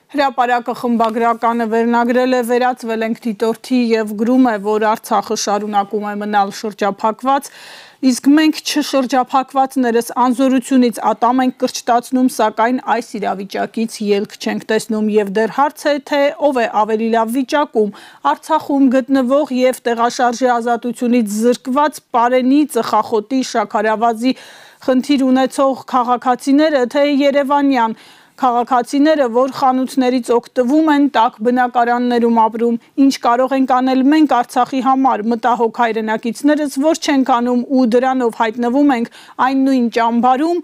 Հրապարակը խմբագրականը վերնագրել է վերածվել ենք դիտորդի և գրում է, որ Արցախը շարունակում է մնալ շրջափակված, իսկ մենք չշրջափակվածներս անզորությունից ատամ ենք կրճտացնում, սակայն այս իրավիճակից ելք չենք տեսնում և դեռ հարց է, թե ով է ավելի լավ վիճակում, Արցախում գտնվող և տեղաշարժի ազատությունից զրկված Պարենի, Ծխախոտի, Շաքարավազի խնդիր ունեցող քաղաքացիները, թե երևանյան քաղաքացիները, որ խանութներից օգտվում են, տաք բնակարաններում ապրում, ինչ կարող ենք անել մենք Արցախի համար, մտահոգ հայրենակիցներս, որ չենք անում ու դրանով հայտնվում ենք այն նույն ճամբարում,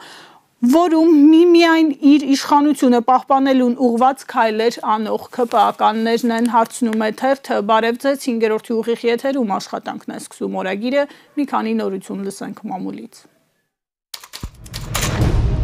որում միմիայն իր իշխանությունը պահպանելուն ուղղված քայլեր անող ՔՊԱ-ականներն են, հարցնում է թերթը, բարև ձեզ, 5-րդ ուղիղ եթերում աշխատանքն է սկսում օրագիրը, մի քանի նորություն լսենք մամուլից։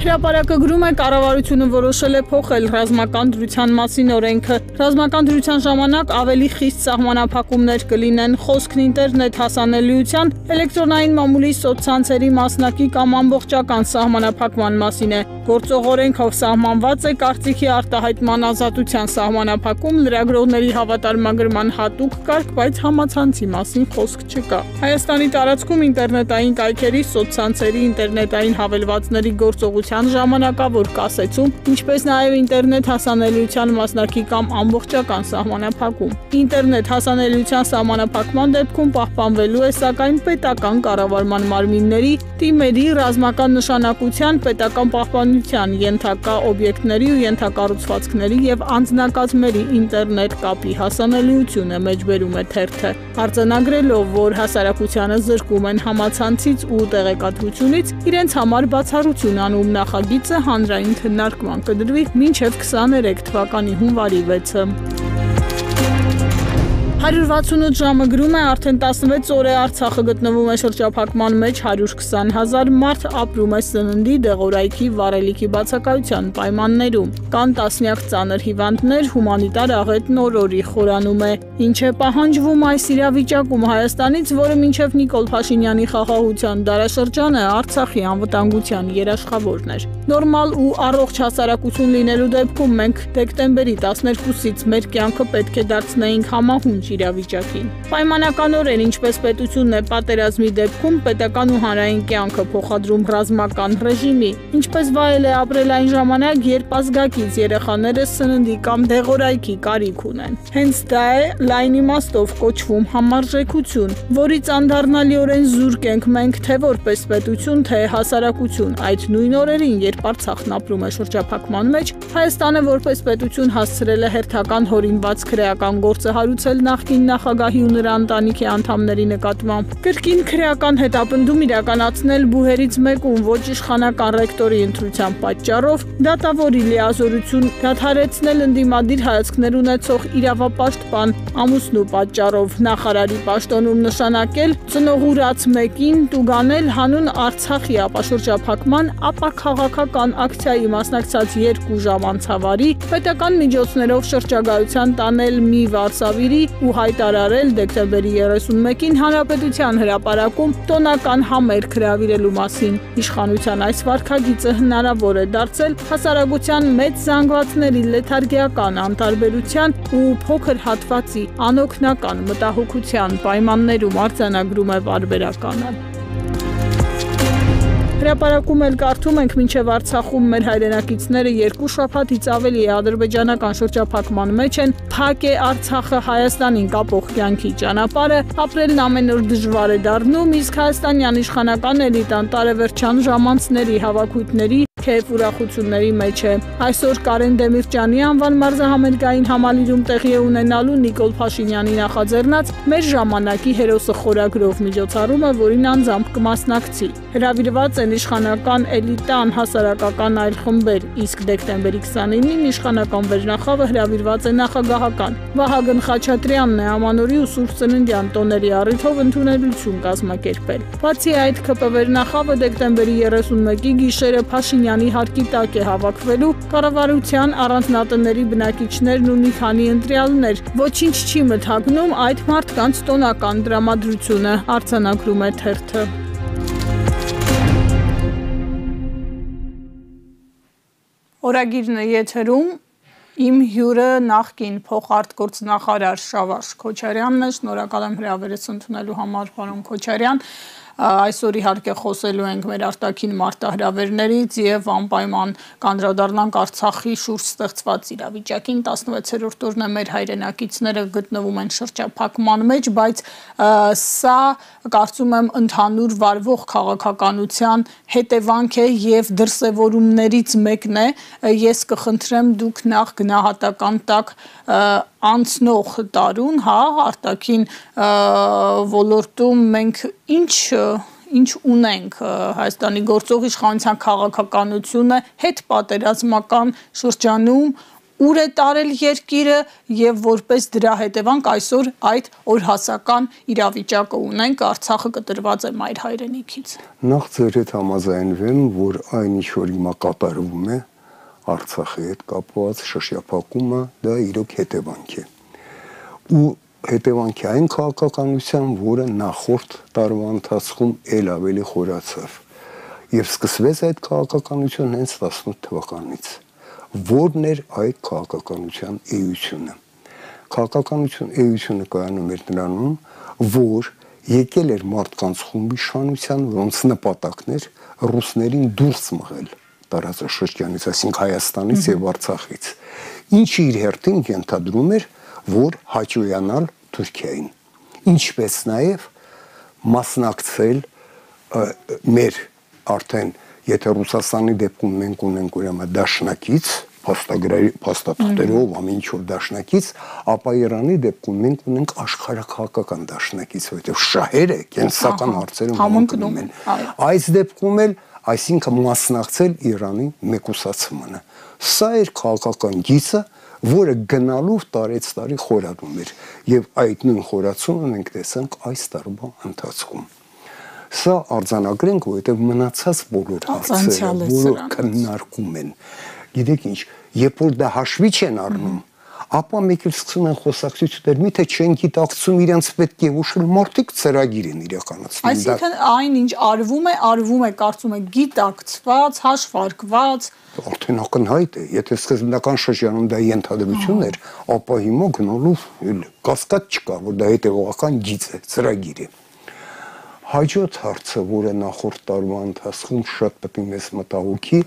Հրապարակը գրում է, կառավարությունը որոշել է փոխել ռազմական դրության մասին օրենքը։ Ռազմական դրության ժամանակ ավելի խիստ սահմանափակումներ կլինեն, խոսքն ինտերնետ հասանելիության, էլեկտրոնային մամուլի սոցցանցերի մասնակի կամ ամբողջական սահմանափակման մասին է։ Գործող օրենքով սահմանված է կարծիքի արտահայտման ազատության սահմանափակում, լրագրողների հավատարմագրման հատուկ կարգ, բայց համացանցի մասին խոսք չկա։ Հայաստանի տարածքում ինտերնետային կայքերի, սոցցանցերի, ինտերնետային հավելվածների գործողության ժամանակավոր կասեցում, ինչպես նաև ինտերնետ հասանելիության մասնակի կամ ամբողջական սահմանափակում։ Ինտերնետ հասանելիության սահմանափակման դեպքում պահպանվելու է սակայն պետական կառավարման մարմինների, թիմերի, ռազմական նշանակության, պետական պահպանության, ենթակա օբյեկտների ու ենթակառուցվածքների և անձնակազմերի ինտերնետ կապի հասանելիությունը, մեջբերում է թերթը, արձանագրելով, որ հասարակությանը զրկում են համացանցից ու տեղեկատվությունից, իրենց համար բացառություն անում նախագիծը հանրային քննարկման կդրվի մինչև 23 թվականի հունվարի 6-ը։ 168 ժամը գրում է, արդեն 16 օր է Արցախը գտնվում է շրջափակման մեջ, 120,000 մարդ ապրում է սննդի, դեղորայքի, վառելիքի բացակայության պայմաններում։ Կան տասնյակ ծանր հիվանդներ, հումանիտար աղետն օր-օրի խորանում է։ Ինչ է պահանջվում այս իրավիճակում Հայաստանից, որը մինչև Նիկոլ Փաշինյանի խաղաղության դարաշրջանը Արցախի անվտանգության երաշխավորն էր։ Նորմալ ու առողջ հասարակություն լինելու դեպքում մենք դեկտեմբերի 12-ից մեր կյանքը պետք է դարձնեինք համահունչ իրավիճակին։ Պայմանականորեն, ինչպես պետությունն է պատերազմի դեպքում պետական ու հանրային կյանքը փոխադրում ռազմական ռեժիմի, ինչպես վայել է ապրել այն ժամանակ, երբ ազգակից երեխաները սննդի կամ դեղորայքի կարիք ունեն։ Հենց դա է լայն իմաստով կոչվում համարժեքություն, որից անդառնալիորեն զուրկ ենք մենք թե որպես պետություն, թե հասարակություն։ Այդ նույն օրերին, երբ Արցախն ապրում է շրջափակման մեջ, Հայաստանը որպես պետություն հասցրել է հերթական հորինված քրեական գործը հարուցել նախկին նախագահի ու նրա ընտանիքի անդամների նկատմամբ։ Կրկին քրեական հետապնդում իրականացնել բուհերից մեկում ոչ իշխանական ռեկտորի ընտրության պատճառով, դատավորի լիազորություն դադարեցնել ընդդիմադիր հայացքներ ունեցող իրավապաշտպան ամուսնու պատճառով, նախարարի պաշտոնում նշանակել ծնողուրաց մեկին տուգանել հանուն Արցախի ապաշրջափակման, ապա քաղաքական ակցիայի մասնակցած 2 ժամ անցավարի, պետական միջոցներով շրջագայության տանել մի վարսավիրի ու հայտարարել դեկտեմբերի 31-ին Հանրապետության հրապարակում տոնական համերգ հրավիրելու մասին։ Իշխանության այս վարքագիծը հնարավոր է դարձել հասարակության մեծ զանգվածների լեթարգիական անտարբերության ու փոքր հատվածի անօգնական մտահոգության պայմաններում, արձանագրում է պարբերականը։ Հրապարակում էլ կարդում ենք, մինչև Արցախում մեր հայրենակիցները 2 շաբաթից ավելի ադրբեջանական շրջափակման մեջ են, փակ է Արցախը Հայաստանին կապող կյանքի ճանապարհը, ապրելն ամեն օր դժվար է դառնում, իսկ հայաստանյան իշխանական էլիտան տարեվերջյան ժամանցների, հավաքույթների, քեֆ ուրախությունների մեջ է։ Այսօր Կարեն Դեմիրճյանի անվան մարզահամերգային համալիրում տեղի է ունենալու Նիկոլ Փաշինյանի նախաձեռնած «Մեր ժամանակի հերոսը» խորագրով միջոցառումը, որին անձամբ կմասնակցի։ Հրավիրված են իշխանական էլիտան հասարակական այլ խմբեր, իսկ դեկտեմբերի 29-ին իշխանական վերնախավը հրավիրված է նախագահական։ Վահագն Խաչատրյանն է ամանորի ու Սուրբ Ծննդյան տոների առիթով ընդունելություն կազմակերպել։ Բացի այդ, ՔՊ վերնախավը դեկտեմբերի 31-ի գիշերը Փաշինյանի հարկի տակ է հավաքվելու, կառավարության առանձնատների բնակիչներն ու մի քանի ընտրյալներ։ Ոչինչ չի մթագնում այդ մարդկանց տոնական տրամադրությունը, արձանագրում է թերթը։ Օրագիրն է եթերում, իմ հյուրը նախկին փոխարտգործնախարար Շավարժ Քոչարյանն է, շնորհակալ եմ հրավերս ընդունելու համար, պարոն Քոչարյան։ Այսօր իհարկե խոսելու ենք մեր արտաքին մարտահրավերներից եւ անպայման կանդրադառնանք Արցախի շուրջ ստեղծված իրավիճակին։ 16-րդ օրն է մեր հայրենակիցները գտնվում են շրջափակման մեջ, բայց սա կարծում եմ ընդհանուր վարվող քաղաքականության հետևանք է եւ դրսեւորումներից մեկն է։ Ես կխնդրեմ դուք նախ գնահատական տակ անցնող տարուն, արտաքին ոլորտում մենք ինչ ունենք Հայաստանի գործող իշխանության քաղաքականությունը հետ պատերազմական շրջանում, ուր է տարել երկիրը եւ որպես դրա հետևանք այսօր այդ օրհասական իրավիճակը ունենք, Արցախը կտրված է մայր հայրենիքից։ Նախ ձեր հետ համաձայնվեմ, որ այն ինչ որ հիմա կատարվում է Արցախի հետ կապված շրջափակումը դա իրոք հետևանք է։ Ու հետևանքի այն քաղաքականության, որը նախորդ տարվա ընթացքում ել ավելի խորացավ։ Եվ սկսվեց այդ քաղաքականությունը հենց 18 թվականից։ Որն էր այդ քաղաքականության էությունը։ Քաղաքականություն էությունը կայանում էր նրանում, որ եկել էր մարդկանց խումբի իշխանության, որոնց նպատակն էր ռուսներին դուրս մղել տարածաշրջանից, այսինքն Հայաստանից եւ Արցախից, ինչը իր հերթին ենթադրում էր, որ հաճոյանալ Թուրքիային, ինչպես նաեւ մասնակցել մեր արդեն, եթե Ռուսաստանի դեպքում մենք ունենք ուրեմն դաշնակից, փաստաթղթերով ամեն ինչ որ դաշնակից, ապա Իրանի դեպքում մենք ունենք աշխարհակաղակական դաշնակից, որովհետեւ շահերը կենսական հարցերում համընկնում են։ Այս դեպքում էլ այսինքն մասնակցել Իրանի մեկուսացմանը։ Սա էր քաղաքական գիծը, որը գնալով տարեցտարի խորանում էր, եւ այդ նույն խորացումը մենք տեսանք այս տարվա ընթացքում։ Սա արձանագրենք, որովհետեւ մնացած բոլոր հարցերը, որոնք քննարկում են, գիտեք ինչ, երբ որ դա հաշվի չեն առնում, ապա մեկ էլ սկսում են խոսակցություններ, միթե չեն գիտակցում իրենց պետք է ուշել, մարդիկ ծրագիր են իրականացնում։ Այսինքն այն ինչ արվում է, կարծում եք գիտակցված, հաշվարկված։ Արդեն ակնհայտ է, եթե սկզբնական շրջանում դա ենթադրություն էր, ապա հիմա գնալով կասկած չկա, որ դա հետևողական գիծ է, ծրագիր է։ Հաջորդ հարցը, որը նախորդ տարվա ընթացքում շատ պետք է մեզ մտահոգի,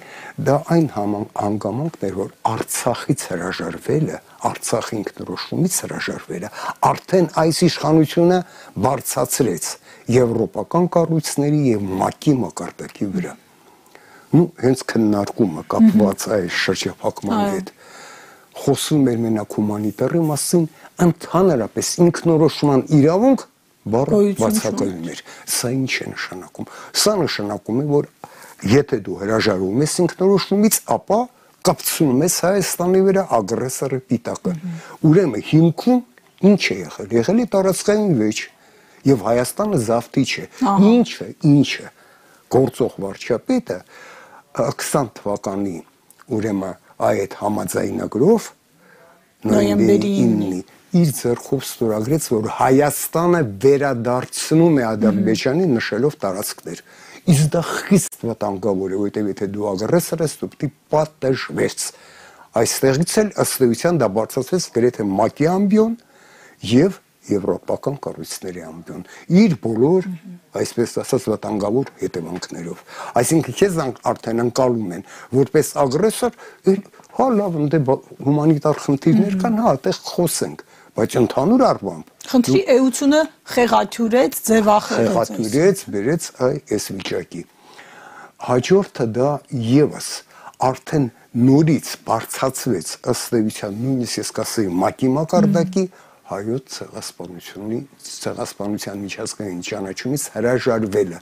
դա այն հանգամանքն էր, որ Արցախից հրաժարվելը, Արցախի ինքնորոշումից հրաժարվելը, արդեն այս իշխանությունը բարձրացրեց եվրոպական կառույցների եւ ՄԱԿ-ի մակարդակի վրա։ Հենց քննարկումը կապված այս շրջափակման հետ խոսում էր մենակ հումանիտարի մասին, ընդհանրապես ինքնորոշման իրավունք բառը բացակայում էր։ Սա ինչ է նշանակում։ Սա նշանակում է, որ եթե դու հրաժարվում ես ինքնորոշումից, ապա կապցնում ես Հայաստանի վրա ագրեսորի պիտակը։ Ուրեմն հիմքում ինչ է եղել։ Եղել է տարածքային վեճ եւ Հայաստանը զավթիչ է։ Ինչը գործող վարչապետը 20 թվականի ուրեմն այդ համաձայնագրով նոյեմբերի 9-ի իր ձեռքով ստորագրեց, որ Հայաստանը վերադարձնում է Ադրբեջանի նշելով տարածքներ։ Իսկ դա խիստ վտանգավոր է, որովհետև եթե դու ագրեսոր ես, դու պետք է պատժվես։ Այստեղից էլ ըստ էության դա բարձրացվեց գրեթե ՄԱԿ-ի ամբիոն եւ եվրոպական կառույցների ամբիոն։ Իր բոլոր, այսպես ասած, վտանգավոր հետևանքներով։ Այսինքն քեզ արդեն անցալում են որպես ագրեսոր, լավ, հումանիտար խնդիրներ կան, այդտեղ խոսենք, բայց ընդհանուր առմամբ խնդրի էությունը խեղաթյուրեց, ձևախեղաթյուրեց, բերեց այս վիճակի։ Հաջորդը դա եւս արդեն նորից բարձրացվեց ըստ էության նույնիսկ ես կասեի ՄԱԿ-ի մակարդակի հայոց ցեղասպանության միջազգային ճանաչումից հրաժարվելը,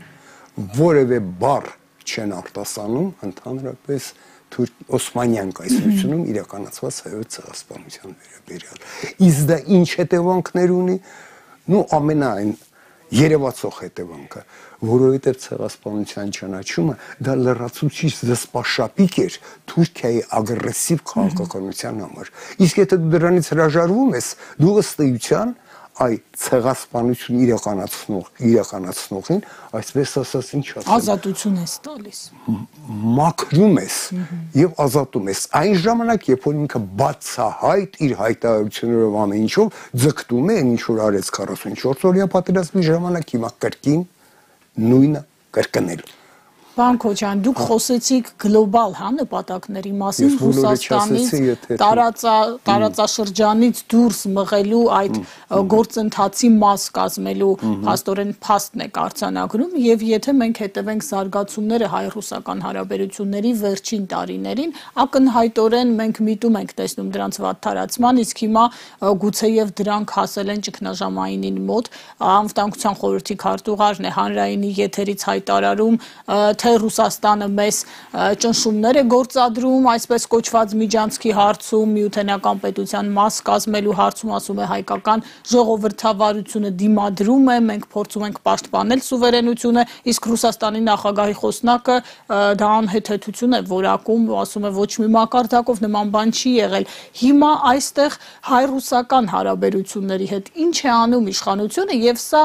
որևէ բառ չեն արտասանում ընդհանրապես Օսմանյան կայսրությունում իրականացված հայոց ցեղասպանության վերաբերյալ։ Իսկ դա ինչ հետևանքներ ունի, ամենայն երևացող հետևանքը, որովհետև ցեղասպանության ճանաչումը դա լրացուցիչ զսպաշապիկ էր Թուրքիայի ագրեսիվ քաղաքականության համար։ Իսկ եթե դու դրանից հրաժարվում ես, դու ըստ էության այդ ցեղասպանություն իրականացնողին, այսպես ասած, ինչ ասեմ, ազատություն ես տալիս, մաքրում ես եւ ազատում ես։ Այն ժամանակ, երբ որ ինքը բացահայտ իր հայտարարություններով ամեն ինչով ձգտում է, ինչ որ արեց 44-օրյա պատերազմի ժամանակ, հիմա կրկին նույնը կրկնելու։ Պարոն Քոչարյան, դուք խոսեցիք գլոբալ նպատակների մասին, Ռուսաստանից տարածաշրջանից դուրս մղելու այդ գործընթացի մաս կազմելու փաստորեն փաստն եք արձանագրում, եւ եթե մենք հետևենք զարգացումները հայ-ռուսական հարաբերությունների վերջին տարիներին, ակնհայտորեն մենք միտում ենք տեսնում դրանց վատթարացման, իսկ հիմա գուցեև դրանք հասել են ճգնաժամայինին մոտ, Անվտանգության խորհրդի քարտուղարն է հանրայինի եթերից հայտարարում, թե Ռուսաստանը մեզ ճնշումներ է գործադրում, այսպես կոչված Միջանցքի հարցում, միութենական պետության մաս կազմելու հարցում, ասում է հայկական ժողովրդավարությունը դիմադրում է, մենք փորձում ենք պաշտպանել սուվերենությունը, իսկ Ռուսաստանի նախագահի խոսնակը դա անհեթեթություն է որակում, ասում է ոչ մի մակարդակով նման բան չի եղել։ Հիմա այստեղ հայ-ռուսական հարաբերությունների հետ ինչ է անում իշխանությունը, եւ սա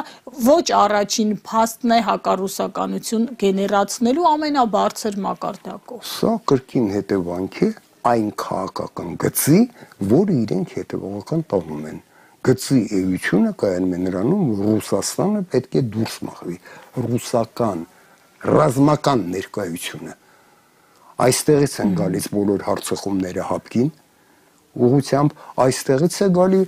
ոչ առաջին փաստն է հակառուսականություն գեներացնելու ամենաբարձր մակարդակով։ Սա կրկին հետևանք է այն քաղաքական գծի, որը իրենք հետևողական տանում են։ Գծի էությունը կայանում է նրանում, որ Ռուսաստանը պետք է դուրս մղվի։ Ռուսական ռազմական ներկայությունը այստեղից են գալիս բոլոր հարցախումները հապկին, ուղղությամբ այստեղից է գալի,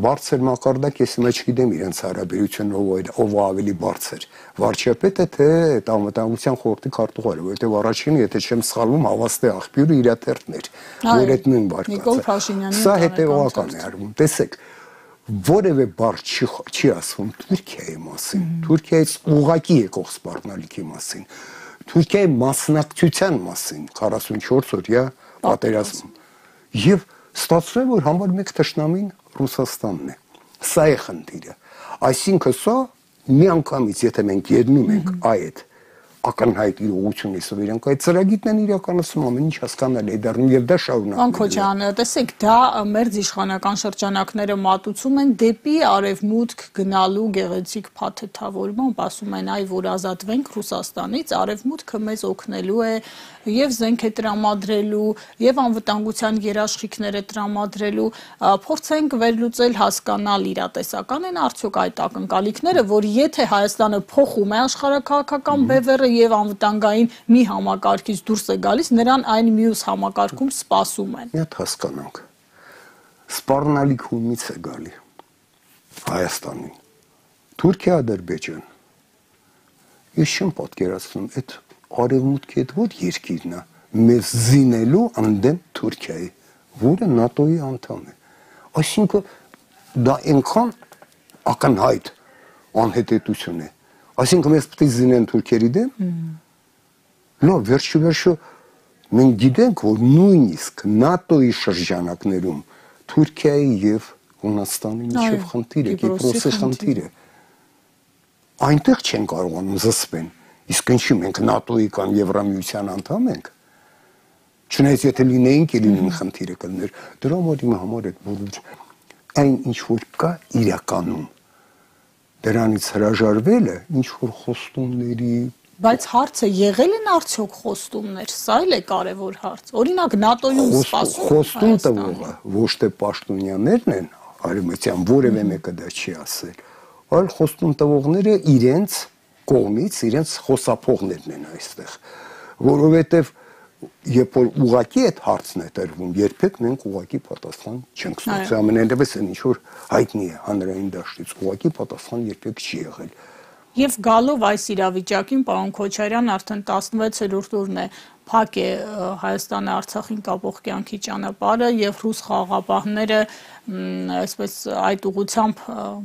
բարձր մակարդակ, ես հիմա չգիտեմ իրենց հարաբերությունը ով ավելի բարձր, վարչապետը թե Անվտանգության խորհրդի քարտուղարը, որովհետև առաջինը, եթե չեմ սխալվում, հավաստի աղբյուրը իր թերթն էր, որ այդ նույն բարկացը։ Սա հետևողական է արվում։ Տեսեք, որևէ բառ չի ասվում Թուրքիայի մասին, Թուրքիայից ուղղակի եկող սպառնալիքի մասին, Թուրքիայի մասնակցության մասին 44-օրյա պատերազմում։ Եվ ստացվում է, որ համար մեկ թշնամին Ռուսաստանն է։ Սա է խնդիրը։ Այսինքն սա միանգամից, եթե մենք ելնում ենք այդ ակնհայտ իրողությունից, որ իրենք այդ ծրագիրն են իրականացնում, ամեն ինչ հասկանալի է դառնում եւ դա շարունակվում է։ Պարոն Քոչարյան, տեսեք, դա մեր իշխանական շրջանակները մատուցում են դեպի արևմուտք գնալու գեղեցիկ փաթեթավորմամբ, ասում են, որ ազատվենք Ռուսաստանից, արևմուտքը մեզ օգնելու է եւ զենք է տրամադրելու, եւ անվտանգության երաշխիքներ է տրամադրելու, փորձենք վերլուծել, հասկանալ իրատեսական են արդյոք այդ ակնկալիքները, որ եթե Հայաստանը փոխում է աշխարհակաղակական բևեռը եւ անվտանգային մի համակարգից դուրս է գալիս, նրան այն մյուս համակարգում սպասում են։ Մի հատ հասկանանք։ Սպառնալիք ումից է գալի Հայաստանին։ Թուրքիա, Ադրբեջան։ Ես չեմ պատկերացնում այդ արևմուտքի հետ որ երկիրն է մեզ զինելու անդեմ Թուրքիայի, որը ՆԱՏՕ-ի անդամ է։ Այսինքն դա այնքան ակնհայտ անհետեթություն է։ Այսինքն մեզ պետք է զինեն թուրքերի դեմ։ Լավ, վերջիվերջո մենք գիտենք, որ նույնիսկ ՆԱՏՕ-ի շրջանակներում Թուրքիայի եւ Հունաստանի միջև խնդիր է, Կիպրոսի խնդիր է։ Այնտեղ չեն կարողանում զսպեն։ Իսկ ինչի մենք ՆԱՏՕ-ի կամ Եվրամիության անդամ ենք։ Չնայած եթե լինեինք, լինին խնդիրը կլներ։ Դրա համար այդ բոլոր այն ինչ որ կա իրականում դրանից հրաժարվելը ինչ որ խոստումների Բայց հարցը եղել են արդյոք խոստումներ, սա էլ է կարևոր հարց։ Օրինակ ՆԱՏՕ-ում սպասում խոստում տվողը ոչ թե պաշտոնյաներն են, արևմտյան որևէ մեկը դա չի ասել, այլ խոստում տվողները իրենց կողմից իրենց խոսափողներն են այստեղ, որովհետև երբ որ ուղղակի այդ հարցն է տրվում, երբեք մենք ուղղակի պատասխան չենք ստացել, ամենայնպես այն ինչ որ հայտնի է հանրային դաշտից, ուղղակի պատասխան երբեք չի եղել։ Եվ գալով այս իրավիճակին, պարոն Քոչարյան, արդեն 16-րդ օրն է փակ է Հայաստանը Արցախին կապող կյանքի ճանապարհը եւ ռուս խաղաղապահները այսպես այդ ուղղությամբ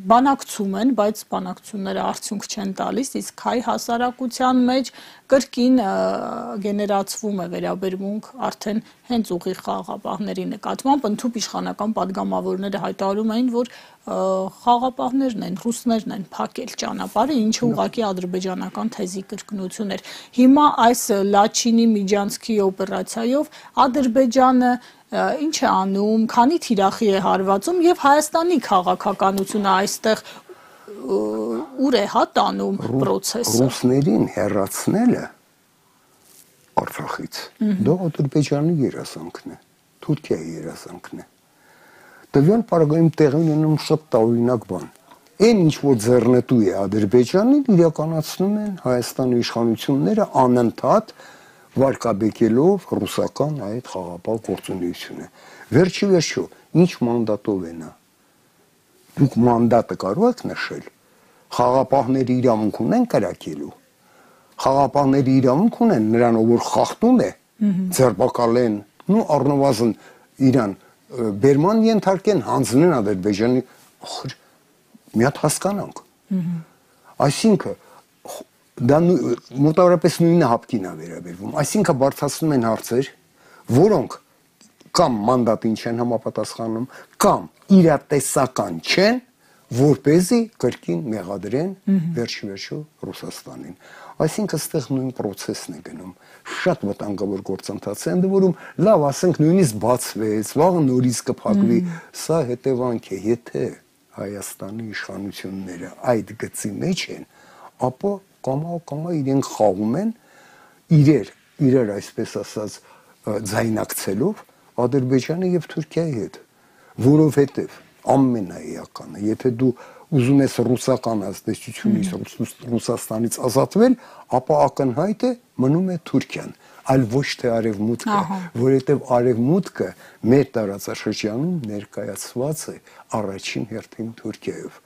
բանակցում են, բայց բանակցությունները արդյունք չեն տալիս, իսկ հայ հասարակության մեջ կրկին գեներացվում է վերաբերմունք արդեն հենց ուղիղ խաղաղապահների նկատմամբ, ընդհանուր իշխանական падգամավորները հայտարարում էին, որ խաղաղապահներն են, ռուսներն են փակել ճանապարհը, ինչը ուղղակի ադրբեջանական թեզի կրկնություն էր։ Հիմա այս Լաչինի Միջանցքի օպերացիայով Ադրբեջանը ինչ է անում, քանի թիրախի է հարվածում եւ Հայաստանի քաղաքականությունը այստեղ ուր է տանում process-ը։ Ռուսներին հեռացնելը Արցախից դա Ադրբեջանի երազանքն է, Թուրքիայի երազանքն է։ Տվյալ պարագայում տեղի ունենում շատ տարօրինակ բան։ Այն ինչ որ ձեռնտու է Ադրբեջանին, իրականացնում են Հայաստանի իշխանությունները անընդհատ վարկաբեկելով ռուսական այդ խաղապահ գործունեությունը։ Վերջի վերջո, ինչ մանդատով է նա։ Դուք մանդատը կարող եք նշել։ Խաղապահների իրավունք ունեն կրակելու։ Խաղապահների իրավունք ունեն նրանով, որ խախտում է, ձերբակալեն, ու առնվազն իրան բերման ենթարկեն, հանձնեն Ադրբեջանի, մի հատ հասկանանք։ Այսինքն դա մոտավորապես նույնը հապկին է վերաբերվում, այսինքն բարձրացնում են հարցեր, որոնք կամ մանդատին չեն համապատասխանում, կամ իրատեսական չեն, որպեսզի կրկին մեղադրեն վերջի վերջո Ռուսաստանին։ Այսինքն այստեղ նույն process-ն է գնում, շատ վտանգավոր գործընթաց է, ընդ որում լավ, ասենք նույնիսկ բացվեց, վաղը նորից կփակվի, սա հետևանք է, եթե Հայաստանի իշխանությունները այդ գծի մեջ են, ապա կամա իրենք խաղում են իրեր այսպես ասած ձայնակցելով Ադրբեջանի եւ Թուրքիայի հետ, որովհետեւ ամենաեականը, եթե դու ուզում ես ռուսական ազդեցությունից Ռուսաստանից ազատվել, ապա ակնհայտ է մնում է Թուրքիան, այլ ոչ թե արևմուտքը, որովհետեւ արևմուտքը մեր տարածաշրջանում ներկայացված է առաջին հերթին Թուրքիայով։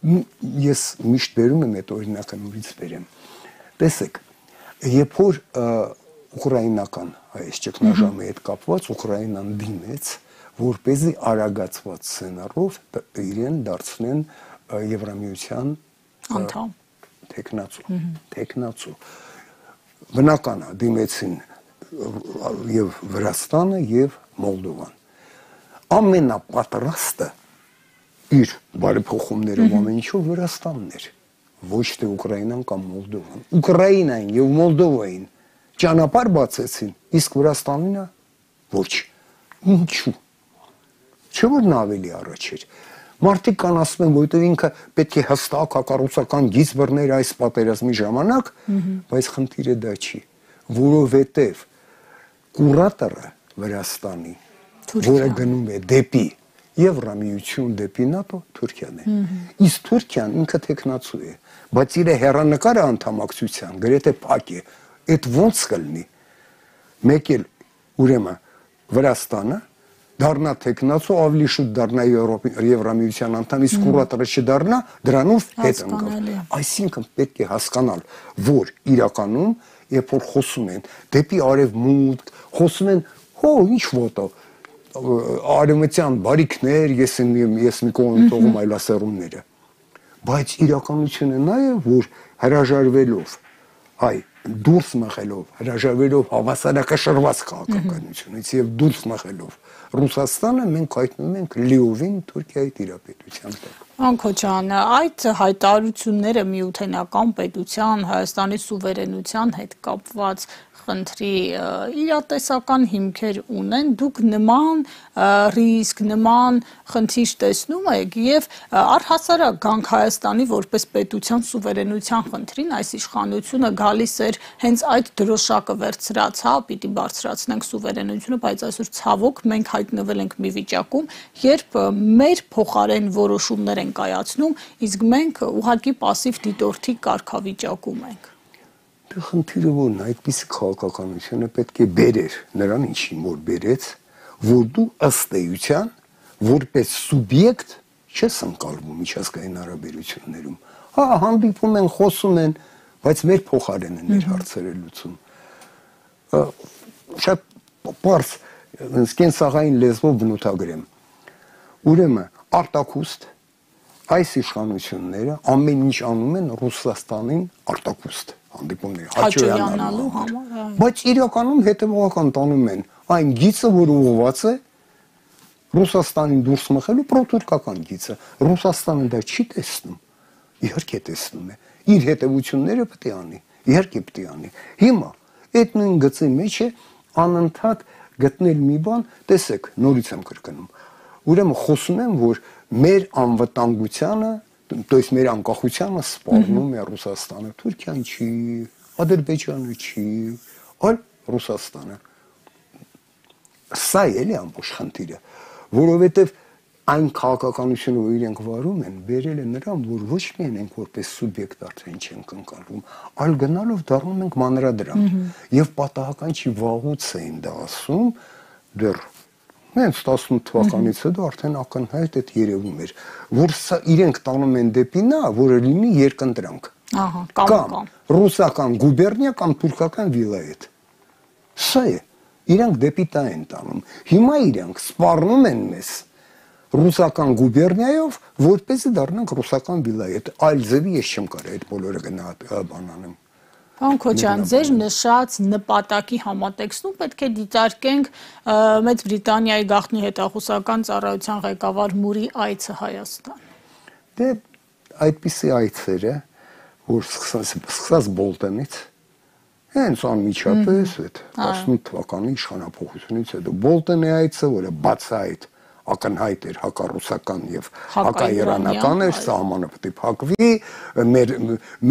Ես միշտ բերում եմ այդ օրինակը նորից բերեմ։ Տեսեք, երբ որ ուկրաինական այս ճգնաժամի հետ կապված Ուկրաինան դիմեց, որպեսզի արագացված սցենարով իրեն դարձնեն Եվրամիության անդամ տեխնացու։ Բնական է դիմեցին եւ Վրաստանը եւ Մոլդովան։ Ամենապատրաստը իր բարեփոխումներով ամեն ինչով Վրաստանն էր, ոչ թե Ուկրաինան կամ Մոլդովան։ Ուկրաինային եւ Մոլդովային ճանապարհ բացեցին, իսկ Վրաստանինը ոչ։ Ինչու՞։ Չէ՞ որ նա ավելի առաջ էր։ Մարդիկ կան ասում են, որովհետև ինքը պետք է հստակ հակառուցական գիծ բռներ այս պատերազմի ժամանակ, բայց խնդիրը դա չի, որովհետև կուրատորը Վրաստանի, որը գնում է դեպի Եվրամիություն, դեպի ՆԱՏՕ, Թուրքիան է։ Իսկ Թուրքիան ինքը տեխնացու է, բայց իր հեռանկարը անդամակցության գրեթե փակ է։ Այդ ո՞նց կլինի։ Մեկ էլ ուրեմն Վրաստանը դառնա տեխնացու, ավելի շուտ դառնա Եվրամիության անդամ, իսկ կուրատորը չդառնա, դրանով հետ ընկավ։ Այսինքն պետք է հասկանալ, որ իրականում, երբ որ խոսում են դեպի արևմուտք, խոսում են, ինչ ոտո, արևմտյան բարիքներ, ես մի կողմ տողում այլասերումները, բայց իրականությունը նա է, որ հրաժարվելով, դուրս մղելով, հրաժարվելով հավասարակշռված քաղաքականությունից եւ դուրս մղելով Ռուսաստանը մենք հայտնում ենք լիովին Թուրքիայի տիրապետության տակ։ Անկոչան, այդ հայտարարությունները միութենական պետության, Հայաստանի սուվերենության հետ կապված խնդրի իրատեսական հիմքեր ունեն, դուք նման ռիսկ, նման խնդիր տեսնում եք եւ առհասարակ գանք Հայաստանի որպես պետության սուվերենության խնդրին, այս իշխանությունը գալիս էր հենց այդ դրոշակը վերցրած, պիտի բարձրացնենք սուվերենությունը, բայց այսօր ցավոք մենք հայտնվել ենք մի վիճակում, երբ մեր փոխարեն որոշումներ են կայացնում, իսկ մենք ուղղակի пассив դիտորդի կարգավիճակում ենք։ Դե խնդիրը որն է, այդպիսի քաղաքականությունը պետք է բերեր նրան ինչին որ բերեց, որ դու ըստ էության որպես սուբյեկտ չես ընկալվում միջազգային հարաբերություններում։ Հանդիպում են, խոսում են, բայց մեր փոխարեն են մեր հարցերը լուծում։ Շատ պարզ կենսաղային լեզվով բնութագրեմ։ Ուրեմն արտակուստ այս իշխանությունները ամեն ինչ անում են Ռուսաստանին արտակուստ հանդիպումներ հաճոյանալու համար, բայց իրականում հետևողական տանում են այն գիծը, որը ուղղված է Ռուսաստանին դուրս մղելու պրոտուրկական գիծը։ Ռուսաստանը դա չի տեսնում, իհարկե տեսնում է, իր հետևությունները պետք է անի, իհարկե պետք է անի։ Հիմա այդ նույն գծի մեջ է անընդհատ գտնել մի բան, տեսեք, նորից եմ կրկնում։ Ուրեմն խոսում եմ, որ մեր անվտանգությանը, то есть մեր անկախությանը սպառնում է Ռուսաստանը, Թուրքիան չի, Ադրբեջանը չի, այլ Ռուսաստանը։ Սա էլի ամբողջ խնդիրը, որովհետև այն քաղաքականությունը, որ իրենք վարում են, բերել է նրան, որ ոչ միայն ենք որպես սուբյեկտ արդեն չենք ընկալում, այլ գնալով դառնում ենք մանրադրանք։ Եվ պատահական չի վաղուց էին դա ասում, դեռ հենց 18 թվականից հետո արդեն ակնհայտ այդ երևում էր, որ սա իրենք տանում են դեպի նա, որը լինի երկընտրանք։ Կամ ռուսական գուբերնիա կամ թուրքական վիլայետ։ Սա է, իրենք դեպի դա են տանում։ Հիմա իրենք սպառնում են մեզ ռուսական գուբերնիայով, որպեսզի դառնանք ռուսական վիլայետ։ Այլ ձևի ես չեմ կարող այդ բոլորը բանանեմ։ Պարոն Քոչարյան, ձեր նշած նպատակի համատեքստում պետք է դիտարկենք Մեծ Բրիտանիայի գաղտնի հետախուզական ծառայության ղեկավար Մուրի այցը Հայաստան։ Դե այդպիսի այցերը, որ սկսած Բոլտոնից, հենց անմիջապես այդ 18 թվականի իշխանափոխությունից հետո Բոլտոնի այցը, որը բացահայտ ակնհայտ էր հակառուսական եւ հակաիրանական էր, սահմանը պետք է փակվի,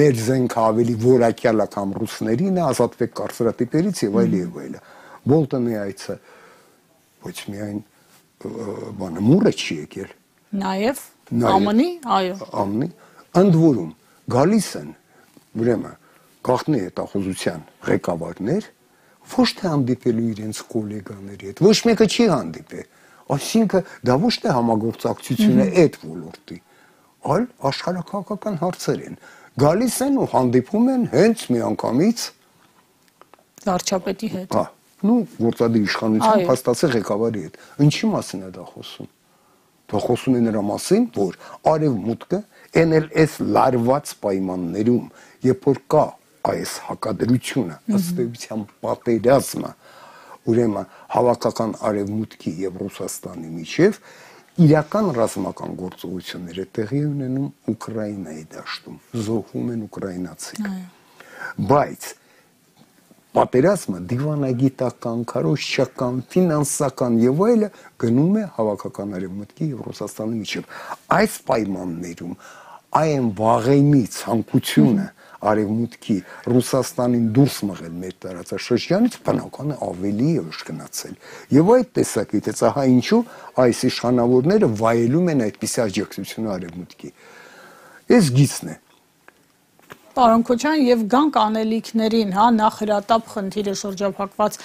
մեր զենքը ավելի որակյալ է քան ռուսներին է, ազատվեք կարծրատիպերից եւ այլը։ Բոլտոնի այցը ոչ միայն բանը մուրը չի եկել, նաեւ ԱՄՆ-ի, այո, ԱՄՆ-ի, ընդ որում գալիս են ուրեմն գաղտնի հետախուզության ղեկավարներ, ոչ թե հանդիպելու իրենց գոլեգաների հետ, ոչ մեկը չի հանդիպել։ Այսինքն դա ոչ թե համագործակցություն է այդ ոլորտի, այլ աշխարհաքաղաքական հարցեր են։ Գալիս են ու հանդիպում են հենց միանգամից վարչապետի հետ։ Հա, նու գործադիր իշխանության փաստացի ղեկավարի հետ։ Ինչի մասին է դա խոսում։ Դա խոսում է նրա մասին, որ արևմուտքը NLS լարված պայմաններում, երբ որ կա այս հակադրությունը, ըստ էության պատերազմը, ուրեմն հավաքական արևմուտքի եւ Ռուսաստանի միջև իրական ռազմական գործողությունները տեղի ունենում Ուկրաինայի դաշտում, զոհվում են ուկրաինացիք։ Բայց պատերազմը դիվանագիտական, քարոզչական, ֆինանսական եւ այլը գնում է հավաքական արևմուտքի եւ Ռուսաստանի միջև։ Այս պայմաններում այն վաղեմի ցանկությունը արևմուտքի Ռուսաստանին դուրս մղել մեր տարածաշրջանից բնական է ավելի ուշքնացել։ Եվ այդ տեսակետից ահա ինչու այս իշխանավորները վայելում են այդպիսի աջակցություն արևմուտքի։ Այս գիծն է։ Պարոն Քոչարյան, եւ գանք անելիքներին, հա, նախհրատապ խնդիրը, շրջափակված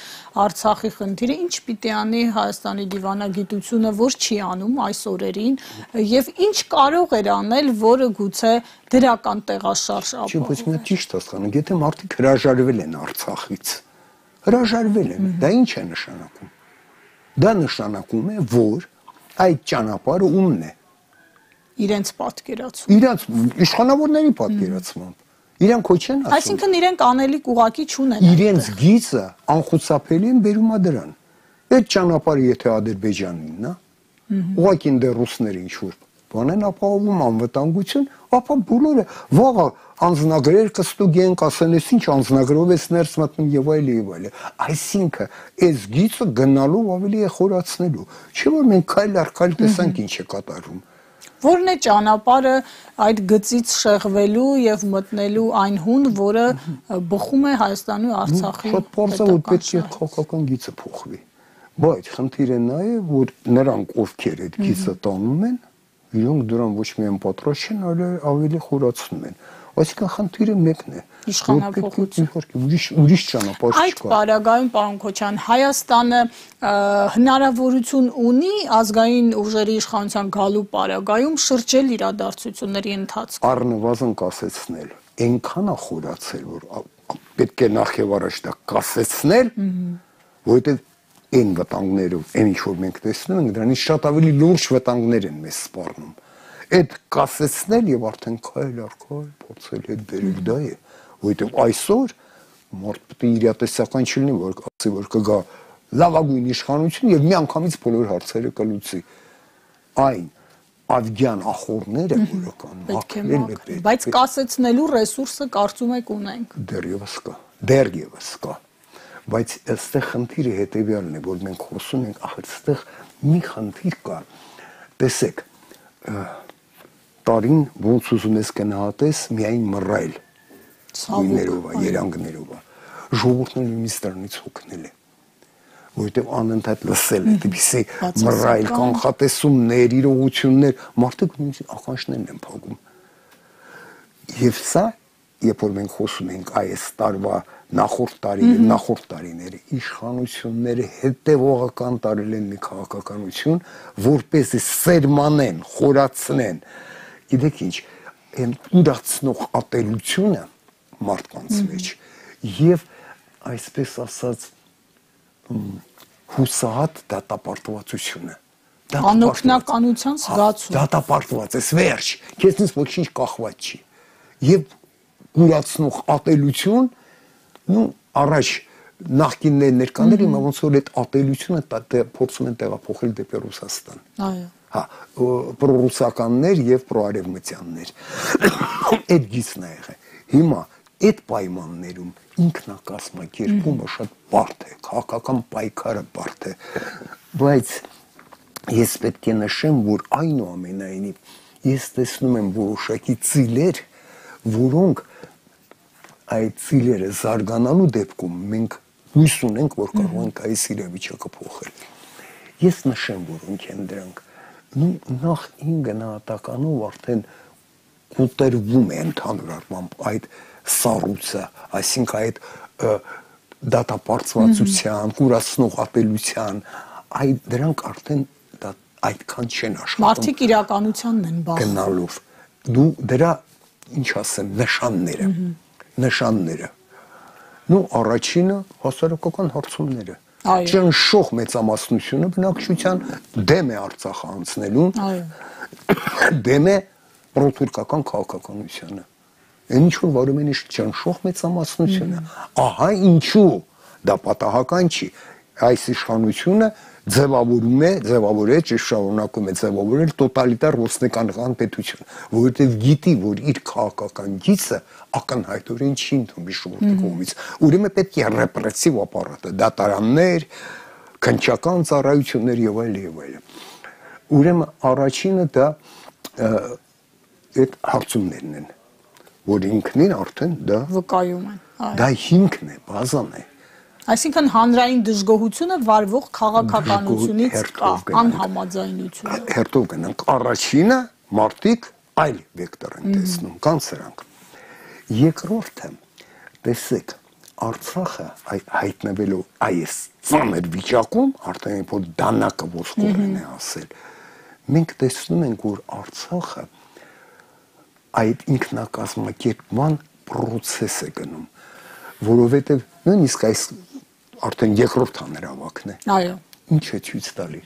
Արցախի խնդիրը, ինչ պիտի անի Հայաստանի դիվանագիտությունը, որ չի անում այս օրերին, եւ ինչ կարող էր անել, որը գուցե դրական տեղաշարժ ապահովի։ Չէ, բայց մենք ճիշտ հասկանանք, եթե մարդիկ հրաժարվել են Արցախից, հրաժարվել են, դա ինչ է նշանակում։ Դա նշանակում է, որ այդ ճանապարհը ումն է։ Իրենց պատկերացում։ Իրենց իշխանավորների պատկերացմամբ։ Իրանք ոչ են ասում։ Այսինքն իրենք անելիք ուղակի չունեն։ Իրենց գիծը անխուսափելի են բերում դրան։ Այդ ճանապարհը եթե Ադրբեջանինն է, ուղղակի դեռ ռուսները ինչ որ բան են ապահովում անվտանգություն, ապա բոլորը վաղը անձնագրեր կստուգեն, կասեն, ես ինչ անձնագրով ես ներս մտնում եւ այլը։ Այսինքն այս գիծը գնալու ավելի է խորացնելու։ Չէ՞ որ մենք քայլ առ քայլ տեսանք ինչ է կատարում։ Որն է ճանապարհը այդ գծից շեղվելու եւ մտնելու այն հուն, որը բխում է Հայաստանի ու Արցախի։ Շատ բարձր որ պետք է քաղաքական գիծը փոխվի։ Բայց խնդիրը նա է, որ նրանք ովքեր այդ գիծը տանում են, իրենք դրան ոչ միայն պատրաստ չեն, այլ ավելի խորացնում են։ Այսինքն խնդիրը մեկն է։ Իշխանափոխություն։ Ուրիշ ճանապարհ չկա։ Այդ պարագայում, պարոն Քոչարյան, Հայաստանը հնարավորություն ունի ազգային ուժերի իշխանության գալու պարագայում շրջել իրադարձությունների ընթացքում։ Առնվազն կասեցնել, այնքան է խորացել, որ պետք է նախ եւ առաջ դա կասեցնել, որովհետեւ այն վտանգներով, այն ինչ որ մենք տեսնում ենք, դրանից շատ ավելի լուրջ վտանգներ են մեզ սպառնում։ Այդ կասեցնել եւ արդեն քայլ առ քայլ փորձել հետ բերել դա է, որովհետեւ այսօր մարդ պետք է իրատեսական չլինի, որ ասի որ կգա լավագույն իշխանություն եւ միանգամից բոլոր հարցերը կլուծի։ Այն ադյան ախորները որական մաքրել է, բայց կասեցնելու ռեսուրսը կարծում եք ունենք։ Դեռևս կա։ Բայց այստեղ խնդիրը հետեւյալն է, որ մենք խոսում ենք, ախր այստեղ մի խնդիր կա։ Տեսեք, տարին ոնց ուզում ես գնահատես, միայն մռայլ գույներով, երանգներով։ Ժողովուրդն նույնիսկ դրանից հոգնել է, որովհետև անընդհատ լսել է դեպի մռայլ կանխատեսումներ, իրողություններ, մարդիկ նույնիսկ ականջներն են փակում։ Եվ սա, երբ որ մենք խոսում ենք այս տարվա նախորդ տարիների իշխանությունները հետևողական տարել են մի քաղաքականություն, որպեսզի սերմանեն, խորացնեն, գիտեք ինչ, այն ուրացնող ատելությունը մարդկանց մեջ եւ այսպես ասած հուսահատ դատապարտվածությունը, անօգնականության զգացում, դատապարտված ես, վերջ, քեզնից ոչինչ կախված չի եւ ուրացնող ատելություն, առաջ նախկիններ ներկաներ հիմա ոնց որ այդ ատելությունը փորձում են տեղափոխել դեպի Ռուսաստան։ Այո։ Հա, պրոռուսականներ եւ պրոարևմտյաններ։ Այդ գիծն է եղել։ Հիմա այդ պայմաններում ինքնակազմակերպումը շատ բարդ է, քաղաքական պայքարը բարդ է, բայց ես պետք է նշեմ, որ այնուամենայնիվ ես տեսնում եմ որոշակի ծիլեր, որոնք այդ ծիլերը զարգանալու դեպքում մենք հույս ունենք, որ կարող ենք այս իրավիճակը փոխել։ Ես նշեմ, որոնք են դրանք։ Նախ իմ գնահատականով արդեն կոտրվում է ընդհանուր առմամբ այդ սառույցը, այսինքն այդ դատապարտվածության, կուրացնող ատելության, դրանք արդեն այդքան չեն աշխատում։ Մարդիկ իրականությանն են բախվում։ Գնալով։ Դու դրա ինչ ասեմ, նշանները։ Առաջինը հասարակական հարցումները։ Ճնշող մեծամասնությունը բնակչության դեմ է Արցախը անցնելուն, դեմ է պրոթուրքական քաղաքականությանը։ Այն ինչ որ վարում են ճնշող մեծամասնությունը։ Ահա ինչու դա պատահական չի։ Այս իշխանությունը ձևավորել, շարունակում է ձևավորել տոտալիտար ռուսնեկանական պետություն, որովհետև գիտի, որ իր քաղաքական գիծը ակնհայտորեն չի ընդունի ժողովրդի կողմից։ Ուրեմն պետք է ռեպրեսիվ ապարատը, դատարաններ, քննչական ծառայություններ եւ այլն։ Ուրեմն առաջինը դա այդ հարցումներն են, որ ինքնին արդեն դա վկայում են։ Դա հիմքն է, բազան է։ Այսինքն հանրային դժգոհությունը վարվող քաղաքականությունից կա, անհամաձայնությունը։ Հերթով գնանք, առաջինը մարդիկ այլ վեկտոր են տեսնում, կան սրանք։ Երկրորդը, տեսեք, Արցախը հայտնվելով այս ծանր վիճակում, արդեն որ դանակը ոսկորեն է ասել, մենք տեսնում ենք, որ Արցախը այդ ինքնակազմակերպման պրոցես է գնում, որովհետև նույնիսկ այս արդեն երկրորդ հանրահավաքն է։ Այո։ Ինչ է ցույց տալի։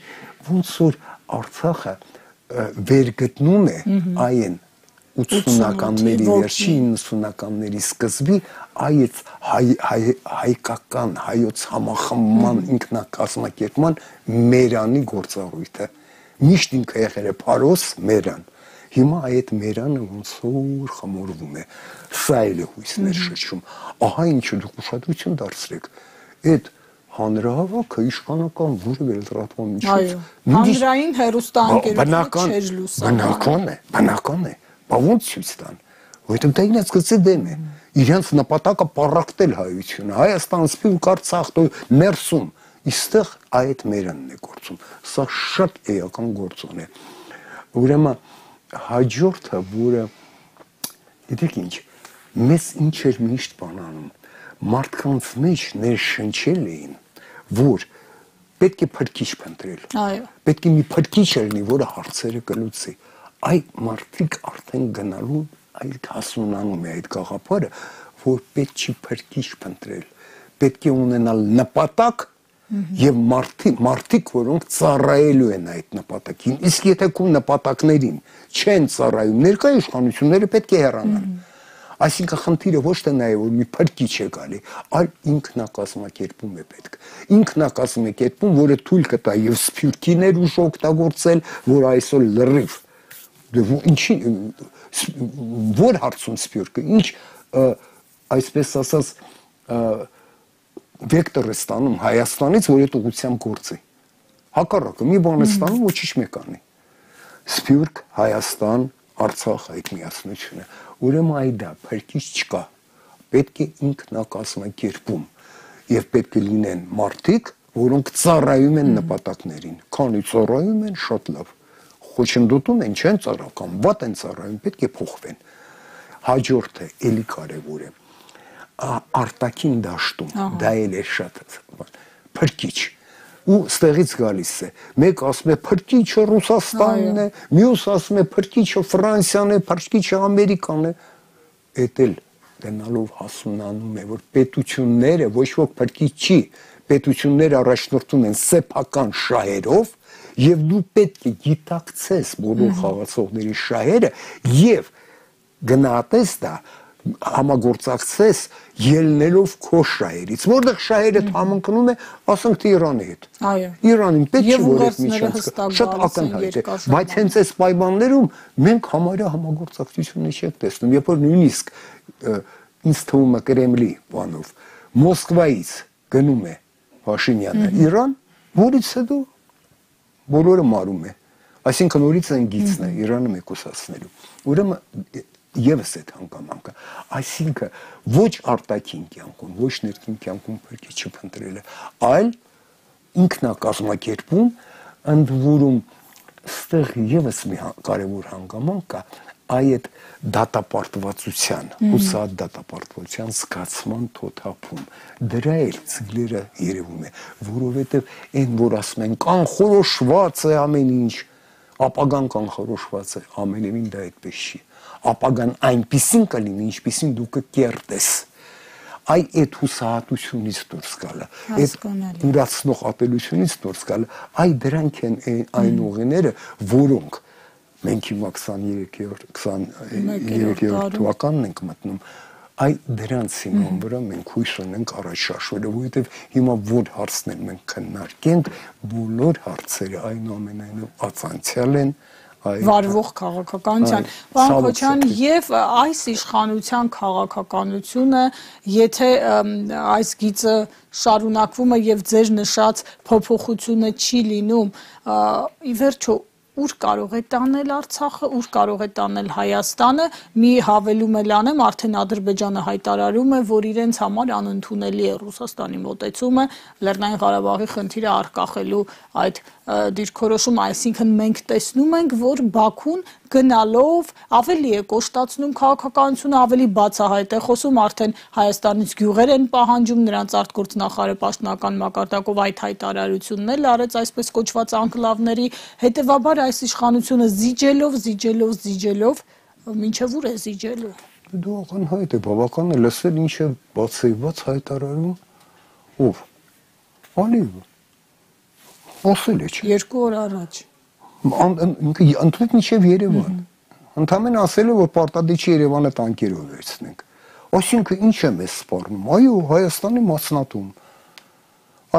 Ոնց որ Արցախը վերգտնում է այն 80-ականների վերջի 90-ականների սկզբի այդ հայկական հայոց համախմբման ինքնակազմակերպման մերանի գործառույթը։ Միշտ ինքը եղել է փարոս մերան։ Հիմա այդ մերանը ոնց որ խմորվում է։ Սա էլ է հույսներ շրջում։ Ահա ինչու դուք ուշադրություն դարձրեք։ Այդ հանրահավաքը իշխանական որևէ լրատվամիջոց հանրային հեռուստաընկերությունը չէր լուսաբանում։ Բնական է, բայց ոնց ցույց տան, որովհետև դա իրենց գծի դեմ է։ Իրենց նպատակը պառակտել հայությունը, Հայաստան, Սփյուռք, Արցախ, ներսում, իստեղ այդ մերանն է գործում։ Սա շատ էական գործոն է։ Ուրեմն հաջորդը, որը գիտեք ինչ, մեզ ինչ էր միշտ բանանում, մարդկանց մեջ ներշնչել էին, որ պետք է փրկիչ փնտրել։ Այո։ Պետք է մի փրկիչ լինի, որը հարցերը կլուծի։ Այդ մարդիկ արդեն գնալու այդ հասունանում է այդ գաղափարը, որ պետք չի փրկիչ փնտրել։ Պետք է ունենալ նպատակ եւ մարդիկ, որոնք ծառայելու են այդ նպատակին, իսկ եթե քո նպատակներին չեն ծառայում, ներկայ իշխանությունները պետք է հեռանան։ Այսինքն խնդիրը ոչ թե նա է, որ մի փրկիչ է գալի, այլ ինքնակազմակերպում է պետք։ Ինքնակազմակերպում, որը թույլ կտա եւ սփյուռքիներ ուժ օգտագործել, որ այսօր լրիվ ինչի որ հարցում սփյուռքը, ինչ այսպես ասած վեկտոր է ստանում Հայաստանից, որ այդ ուղղությամբ գործի։ Հակառակը մի բան է ստանում, ոչինչ մեկ անի։ Սփյուռք, Հայաստան, Արցախ այդ միասնությունը։ Ուրեմն այ դա փրկիչ չկա։ Պետք է ինքնակազմակերպում եւ պետք է լինեն մարդիկ, որոնք ծառայում են նպատակներին։ Քանի ծառայում են, շատ լավ։ Խոչընդոտում են, չեն ծառայում, կամ վատ են ծառայում, պետք է փոխվեն։ Հաջորդը էլի կարևոր է։ Արտաքին դաշտում դա էլ է շատ փրկիչ ու ստեղից գալիս է մեկ ասում է փրկիչը Ռուսաստանն է, մյուս ասում է փրկիչը Ֆրանսիան է, փրկիչը Ամերիկան է, էդ էլ դենալով հասունանում է որ պետությունները ոչ ոք փրկիչ չի, պետությունները առաջնորդում են սեփական շահերով եւ դու պետք է գիտակցես բոլոր խաղացողների շահերը եւ գնահատես դա համագործակցես ելնելով քո շահերից, որտեղ շահերը համընկնում է, ասենք թե Իրանի հետ։ Այո։ Իրանին պետք է որ այդ միջանցքը շատ ակնհայտ է, բայց հենց այս պայմաններում մենք համարյա համագործակցություն չենք տեսնում, երբ որ նույնիսկ ինձ թվում է Կրեմլի բանով Մոսկվայից գնում է Փաշինյանը Իրան, որից հետո բոլորը մարում է։ Այսինքն նորից են գիծն է Իրանը մեկուսացնելու։ Ուրեմն Եվս այդ հանգամանքը, այսինքն ոչ արտաքին կյանքում, ոչ ներքին կյանքում փրկիչը փնտրելը, այլ ինքնակազմակերպում, ընդ որում ստեղ եւս մի կարևոր հանգամանք կա, այդ դատապարտվածության, հուսահատ դատապարտվածության զգացման թոթափում, դրա էլ ծիլերը երևում է, որովհետեւ այն որ ասում են կանխորոշված է ամեն ինչ, ապագան կանխորոշված է, ամենևին դա այդպես չի։ Ապագան այնպիսին կլինի, ինչպիսին դու կկերտես։ Այդ հուսահատությունից դուրս գալը, այդ ուրացնող ատելությունից դուրս գալը, դրանք են այն ուղիները, որոնք մենք հիմա 23-րդ թվականն ենք մտնում, դրանց հիման վրա մենք հույս ունենք առաջ շարժվելու, որովհետև հիմա որ հարցներ մենք քննարկենք, բոլոր հարցերը այնուամենայնիվ ացանցիալ են վարվող քաղաքականության։ Պարոն Քոչարյան, եւ այս իշխանության քաղաքականությունը, եթե այս գիծը շարունակվում է եւ ձեր նշած փոփոխությունը չի լինում, ի վերջո ուր կարող է տանել Արցախը, ուր կարող է տանել Հայաստանը, մի հավելում էլ անեմ, արդեն Ադրբեջանը հայտարարում է, որ իրենց համար անընդունելի է Ռուսաստանի մոտեցումը Լեռնային Ղարաբաղի խնդիրը առկախելու այդ դիրքորոշումը, այսինքն մենք տեսնում ենք, որ Բաքուն գնալով ավելի է կոշտացնում քաղաքականությունը, ավելի բացահայտ է խոսում, արդեն Հայաստանից գյուղեր են պահանջում, նրանց արտգործնախարարը պաշտոնական մակարդակով այդ հայտարարությունն էլ արեց այսպես կոչված անկլավների, հետևաբար այս իշխանությունը զիջելով, մինչև ուր է զիջելու։ Դու ակնհայտ է, բավական է լսել ինչ է բացեված հայտարարում, ով, Ալիևը, ասել է չէ։ 2 օր առաջ։ Ընդհանուր մինչև Երևան, ընդամենը ասել է, որ պարտադիր չի Երևանը տանկերով վերցնենք, այսինքն ինչ է մեզ սպառնում, այո, Հայաստանի մասնատում,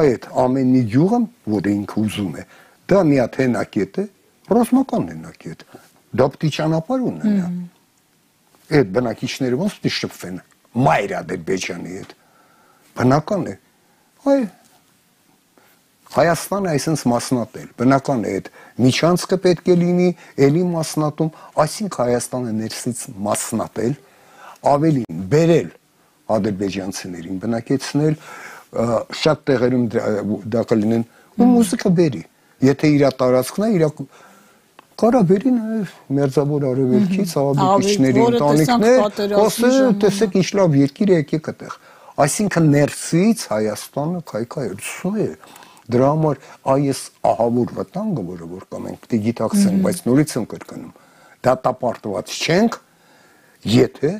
այդ ամեն մի գյուղը, որ ինքը ուզում է, դա մի հատ հենակետ է, ռազմական հենակետ, դա պիտի ճանապարհ ունենա, այդ բնակիչները ոնց պիտի շփվեն, մայր Ադրբեջանի հետ, բնական է, Հայաստանը այսպես մասնատել, բնական է այդ միջանցքը պետք է լինի, էլի մասնատում, այսինքն Հայաստանը ներսից մասնատել, ավելին բերել ադրբեջանցիներին, բնակեցնել, շատ տեղերում դա կլինեն, ու մուզիկա բերի, եթե իր տարածքն է, իր կարա բերի նաև մերձավոր արևելքից, աղաբեկիչների ընտանիքներ, տեսեք ինչ լավ երկիր է, եկեք այդտեղ, այսինքն ներսից Հայաստանը քայքայեցնում է. Դրա համար այս ահավոր վտանգը, որը որ կա, մենք պիտի գիտակցենք, բայց նորից եմ կրկնում, դատապարտված չենք, եթե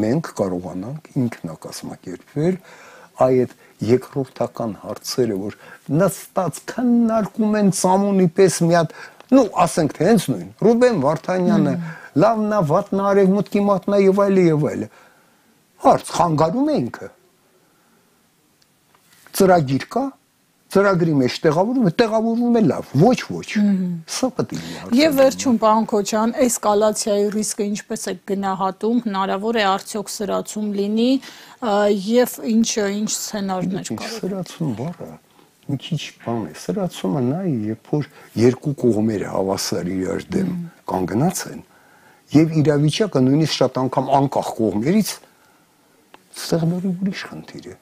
մենք կարողանանք ինքնակազմակերպվել, այդ երկրորդական հարցերը, որ նստած քննարկում են ծամոնի պես մի հատ, նու ասենք թե հենց նույն Ռուբեն Վարդանյանը լավն է, վատն է, արևմուտքի մատնա եւ այլը հարց խանգարում է ինքը ծրագիր կա ծրագրի մեջ տեղավորվում է լավ ոչ սա պետք է լինի եւ վերջում պարոն Քոչարյան էսկալացիայի ռիսկը ինչպես է գնահատում հնարավոր է արդյոք սրացում լինի եւ ինչ սցենարներ կարող սրացում բառը մի քիչ բան է սրացումը նա է երբ որ երկու կողմերը հավասար իրար դեմ կանգնած են եւ իրավիճակը նույնիսկ շատ անգամ անկախ կողմերից ստեղ նորի ուրիշ խնդիր է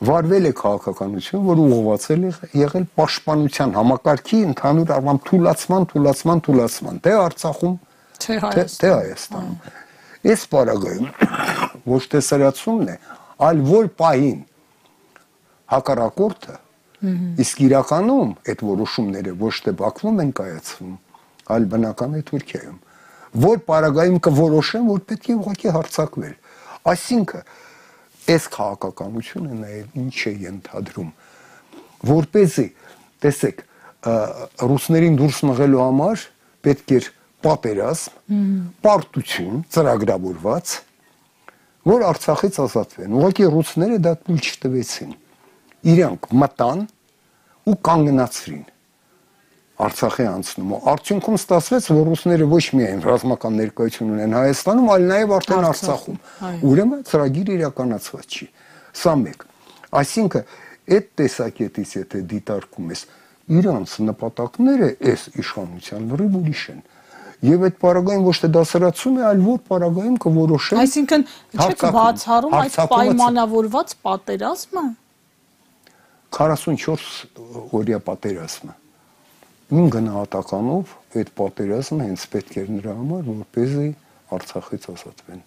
վարվել է քաղաքականություն, որ ուղղվածել է եղել պաշտպանության համակարգի ընդհանուր առմամբ թուլացման, թե Արցախում, թե Հայաստանում։ Այս պարագայում ոչ թե սրացումն է, այլ որ պահին հակառակորդը, իսկ իրականում այդ որոշումները ոչ թե Բաքվում են կայացվում, այլ բնական է Թուրքիայում, որ պարագայում կորոշեն, որ պետք է ուղղակի հարձակվել։ Այսինքն այս քաղաքականությունը նաև ինչ է ենթադրում որպեսզի տեսեք ռուսներին դուրս մղելու համար պետք էր պատերազմ պարտություն ծրագրավորված որ Արցախից ազատվեն ուղղակի ռուսները դա թույլ չտվեցին իրանք մտան ու կանգնացրին Արցախի անցնում արդյունքում ստացվեց որ ռուսները ոչ միայն ռազմական ներկայություն ունեն Հայաստանում, այլ նաև արդեն Արցախում։ Ուրեմն ծրագիրը իրականացված չի։ Սա մեկ։ Այսինքն այդ տեսակետից եթե դիտարկում ես իրանց նպատակները այս իշխանության լրիվ ուրիշ են։ Եվ այդ պարագայում ոչ թե դասարացում է, այլ որ պարագայում կորոշեն։ Այսինքն չեք բացառում այդ պայմանավորված պատերազմը 44 օրյա պատերազմը Իմ գնահատականով այդ պատերազմը հենց պետք էր նրա համար, որպեսզի Արցախից ազատվեն,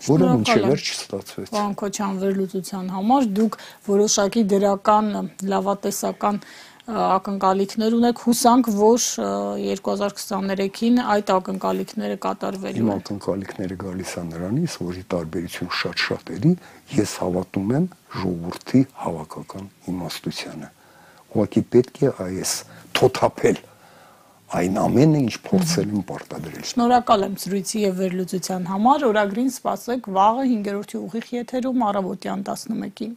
որը մինչև վերջ չստացվեց։ Պարոն Քոչարյան, վերլուծության համար դուք որոշակի դրական լավատեսական ակնկալիքներ ունեք, հուսանք, որ 2023-ին այդ ակնկալիքները կատարվելու են։ Իմ ակնկալիքները գալիս է նրանից, որի տարբերություն շատ-շատերի, ես հավատում եմ ժողովրդի հավաքական իմաստությանը։ Ուղղակի պետք է այս թոթափել այն ամենը, ինչ փորձել եմ պարտադրել։ Շնորհակալ եմ զրույցի եւ վերլուծության համար։ Օրագրին սպասեք վաղը 5-րդ ուղիղ եթերում առավոտյան 11-ին։